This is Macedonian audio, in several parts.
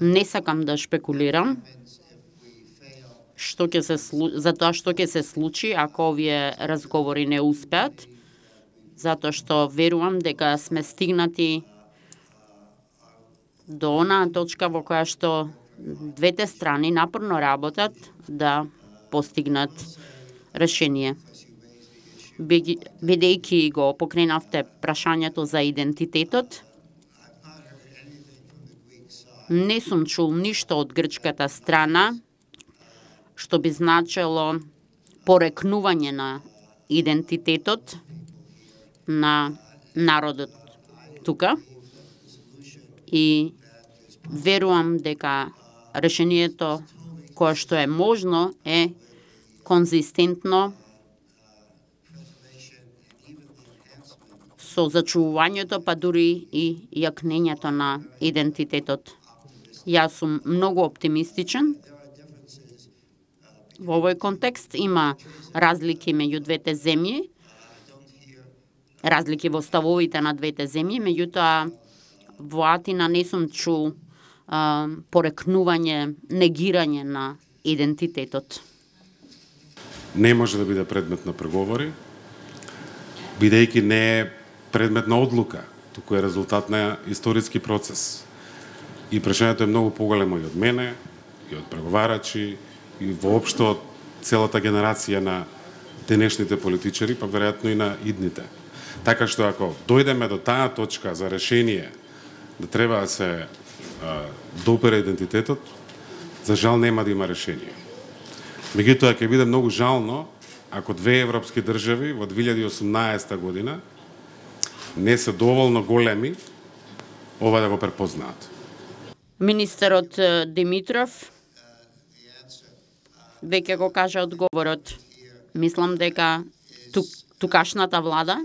Не сакам да шпекулирам за тоа што ќе се случи ако овие разговори не успеат, затоа што верувам дека сме стигнати до онаа точка во која што двете страни напорно работат да постигнат решение. Бидејќи го покренавте прашањето за идентитетот, не сум чул ништо од грчката страна што би значело порекнување на идентитетот на народот тука и верувам дека решението кое што е можно е конзистентно со зачувувањето, па дури и јакнењето на идентитетот. Јас сум многу оптимистичен. Во овој контекст има разлики меѓу двете земји, разлики во ставовите на двете земји, меѓутоа во Атина не сум чул порекнување, негирање на идентитетот. Не може да биде предмет на преговори, бидејќи не е предмет на одлука, туку е резултат на историски процес. И прашањето е многу поголемо и од мене, и од преговарачи, и воопшто од целата генерација на денешните политичари, па веројатно и на идните. Така што ако дојдеме до таа точка за решение да треба да се допера идентитетот, за жал нема да има решение. Меѓутоа ќе биде многу жално ако две европски држави во 2018 година не се доволно големи ова да го препознаат. Министерот Димитров веќе го кажа одговорот. Мислам дека тукашната влада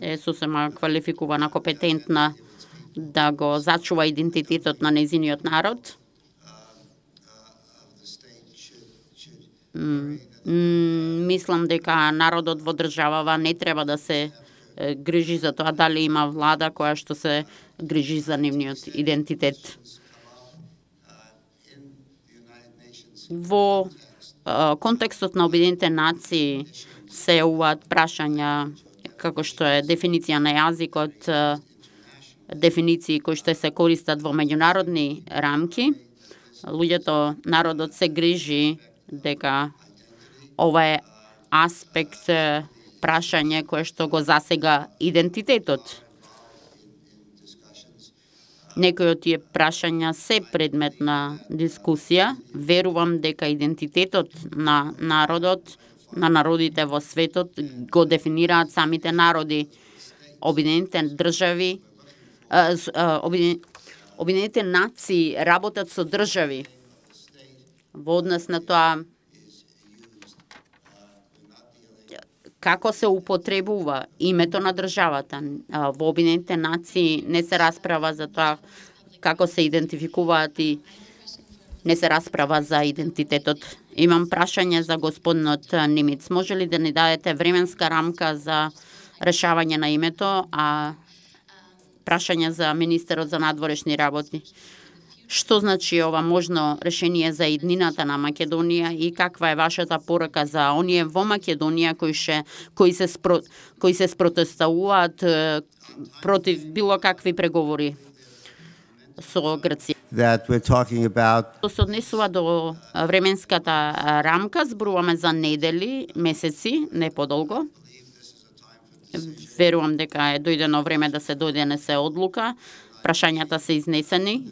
е сосема квалификувана, компетентна да го зачува идентитетот на нејзиниот народ. Мислам дека народот во државава не треба да се грижи за тоа дали има влада која што се грижи за нивниот идентитет. Во контекстот на Обединетите нации се јавуваат прашања како што е дефиниција на јазикот, дефиниции кои што се користат во меѓународни рамки. Народот се грижи дека ова е аспект, прашање кое што го засега идентитетот. Некои од тие прашања се предмет на дискусија. Верувам дека идентитетот на народот, на народите во светот го дефинираат самите народи. Обединетите држави, Обединетите нации работат со држави во однос на тоа како се употребува името на државата. Во Обединетите нации не се расправа за тоа како се идентификуваат и не се расправа за идентитетот. Имам прашање за господинот Немец. Може ли да ни дадете временска рамка за решавање на името, а прашање за министерот за надворешни работи? Што значи ова можно решение за иднината на Македонија и каква е вашата порака за оние во Македонија кои се спротестуваат против било какви преговори со Грција? Што се однесува до временската рамка, зборуваме за недели, месеци, не подолго. Верувам дека е дојдено време да се донесе одлука. Прашањата се изнесени.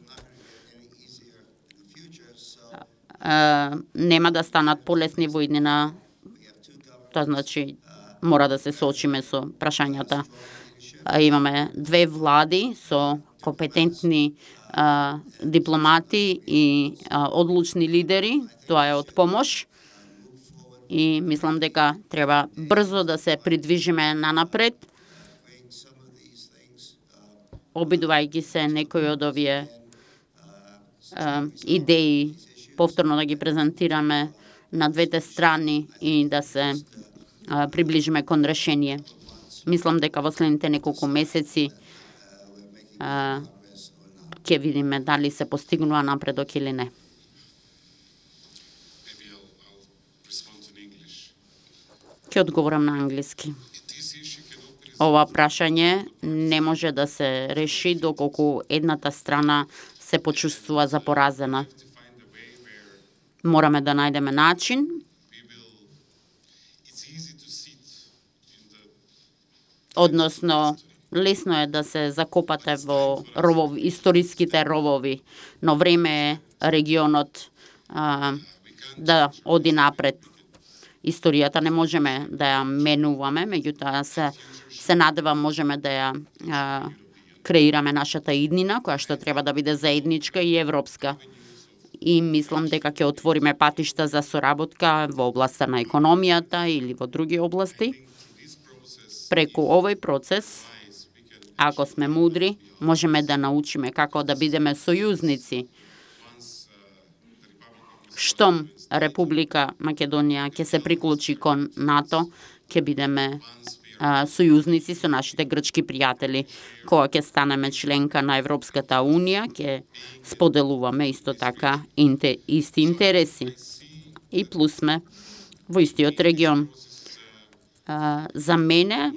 Нема да станат полесни во иднина. Тоа значи мора да се соочиме со прашањата. Имаме две влади со компетентни дипломати и одлучни лидери. Тоа е од помош. И мислам дека треба брзо да се придвижиме нанапред, обидувајќи се некои од овие идеи повторно да ги презентираме на двете страни и да се приближиме кон решение. Мислам дека во следните неколку месеци ќе видиме дали се постигнува напредок или не. Ќе одговорам на англиски. Ова прашање не може да се реши доколку едната страна се почувствува за поразена. Мораме да најдеме начин односно лесно е да се закопате во историските ровови, но време е регионот да оди напред. Историјата не можеме да ја менуваме, меѓутоа се надевам можеме да ја креираме нашата иднина, која што треба да биде заедничка и европска. И мислам дека ќе отвориме патишта за соработка во областа на економијата или во други области. Преку овој процес, ако сме мудри, можеме да научиме како да бидеме сојузници. Штом Република Македонија ќе се приклучи кон НАТО, ќе бидеме сојузници со нашите грчки пријатели. Кога ќе станеме членка на Европската Унија, ќе споделуваме исто така исти интереси. И плюс сме во истиот регион. За мене,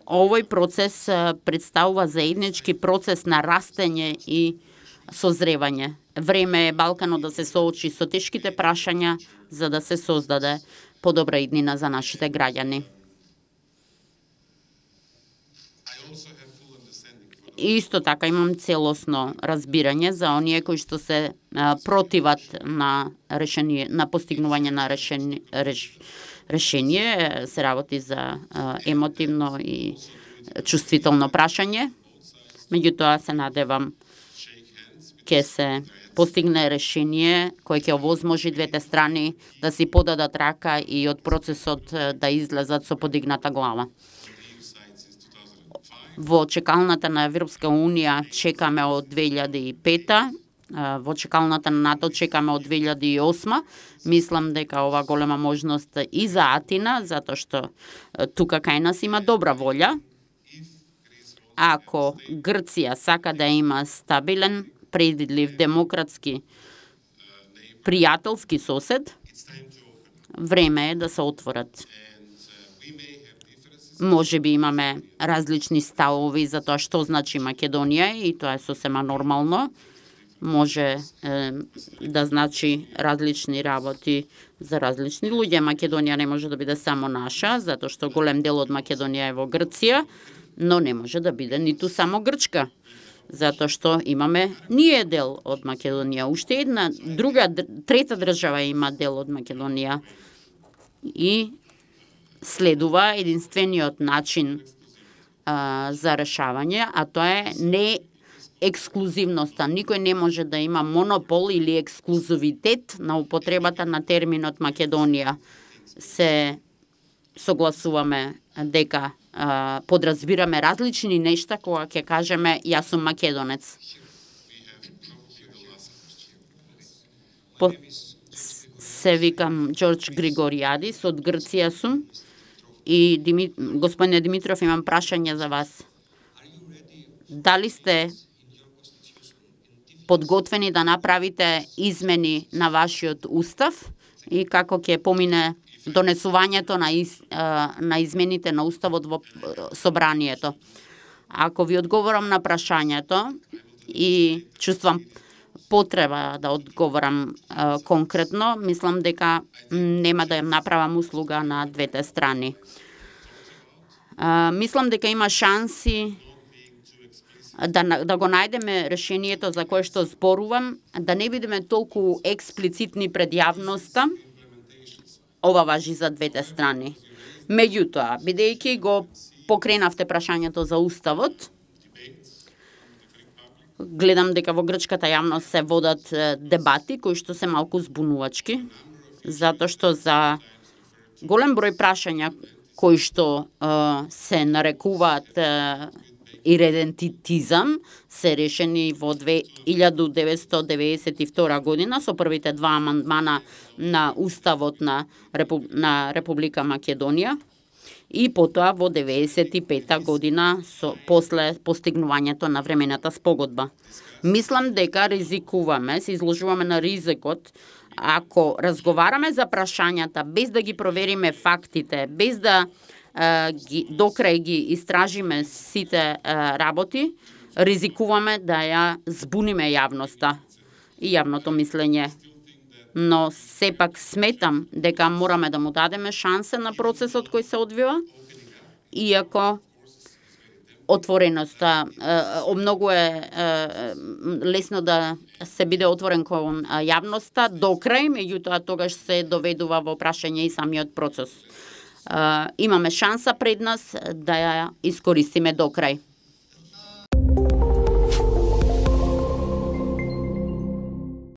овој процес представува заеднички процес на растење и созревање. Време е Балканот да се соочи со тешките прашања за да се создаде подобра иднина за нашите граѓани. Исто така имам целосно разбирање за оние кои што се противат на постигнување на решение, се работи за емотивно и чувствително прашање. Меѓутоа се надевам ќе се постигне решение кое ќе овозможи двете страни да си подадат рака и од процесот да излезат со подигната глава. Во чекалната на Европска Унија чекаме од 2005, во чекалната на НАТО чекаме од 2008. Мислам дека ова голема можност и за Атина, затоа што тука кај нас има добра волја. Ако Грција сака да има стабилен, предвидлив, демократски, пријателски сосед, време е да се отворат. Може би имаме различни ставови за тоа што значи Македонија и тоа е сосема нормално. Може да значи различни работи за различни луѓе. Македонија не може да биде само наша, затоа што голем дел од Македонија е во Грција, но не може да биде ниту само грчка. Затоа што имаме ние дел од Македонија. Уште една трета држава има дел од Македонија. И следува единствениот начин за решавање, а тоа е не ексклузивноста. Никој не може да има монопол или ексклузивитет на употребата на терминот Македонија. Се согласуваме дека подразбираме различни нешта кога ќе кажеме јас сум македонец. Се викам Ѓорџ Григоријадис, од Грција сум. И господине Димитров, имам прашање за вас. Дали сте подготвени да направите измени на вашиот устав и како ќе помине донесувањето на измените на уставот во собранието? Ако ви одговорам на прашањето и чувствам потреба да одговорам конкретно, мислам дека нема да ја направам услуга на двете страни. Мислам дека има шанси да го најдеме решението за кое што зборувам, да не бидеме толку експлицитни пред јавноста. Ова важи за двете страни. Меѓутоа, бидејќи го покренавте прашањето за уставот, гледам дека во грчката јавност се водат дебати кои што се малку збунувачки, затоа што за голем број прашања кои што се нарекуваат иредентитизам се решени во 1992 година со првите два амандмана на уставот на Република Македонија. и потоа во 95-та година после постигнувањето на времената спогодба. Мислам дека ризикуваме, се изложуваме на ризикот ако разговараме за прашањата без да ги провериме фактите, без да докрај ги истражиме сите работи, ризикуваме да ја збуниме јавноста и јавното мислење. Но сепак сметам дека мораме да му дадеме шанса на процесот кој се одвива, иако отвореноста, многу е лесно да се биде отворен кон јавноста до крај, меѓутоа тогаш се доведува во прашање и самиот процес. Имаме шанса пред нас да ја искористиме до крај.